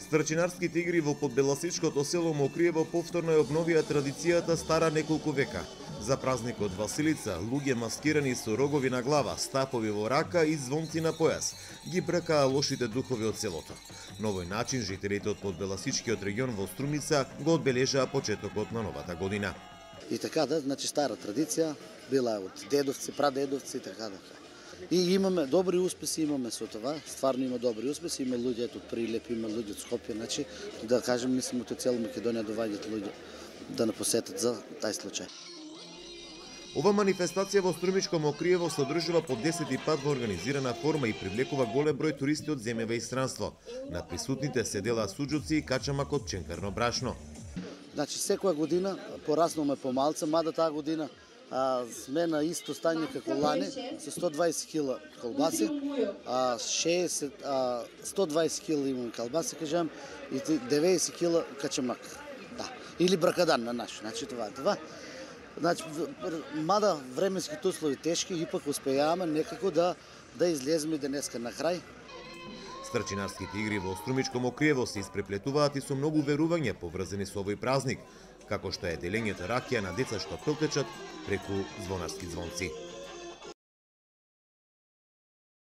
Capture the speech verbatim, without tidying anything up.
Страчинарските игри во подбеласичкото село Мокриево повторно ја обновија традицијата стара неколку века. За празникот Василица, луѓе маскирани со рогови на глава, стапови во рака и звонци на појас ги бркаа лошите духови од селото. На овој начин жителите од подбеласичкиот регион во Струмица го одбележаа почетокот на новата година. И така да, значи стара традиција била од дедовци, прадедовци, така да. И имаме добри успеси, имаме со това, стварно има добри успеси, има луѓе од Прилеп, има луѓе од Скопје, значи да кажем, мислам од цела Македонија доаѓаат луѓе да не посетат за тај случај. Ова манифестација во Струмичко Мокриево содржува по десети пат во организирана форма и привлекува голем број туристи од земјава и странство. На присутните се дела суџуци и качамак од ченкарно брашно. Значи секоја година пораснуваме помалце, мада таа година а, сме на исто стање како лани со сто дваесет кила колбаси, а, шеесет, а, сто дваесет кила имаме колбаси, кажам, и деветдесет кила качамак. Да, или бракадан на наш, значи това това. Значи, мада временските услови тешки, ипак успејаваме некако да да излеземе денеска на крај. Страчинарските игри во Струмичко Мокриево се испреплетуваат и со многу верувања поврзани со овој празник, како што е делењето ракија на деца што пелтечат преку звонарски звонци.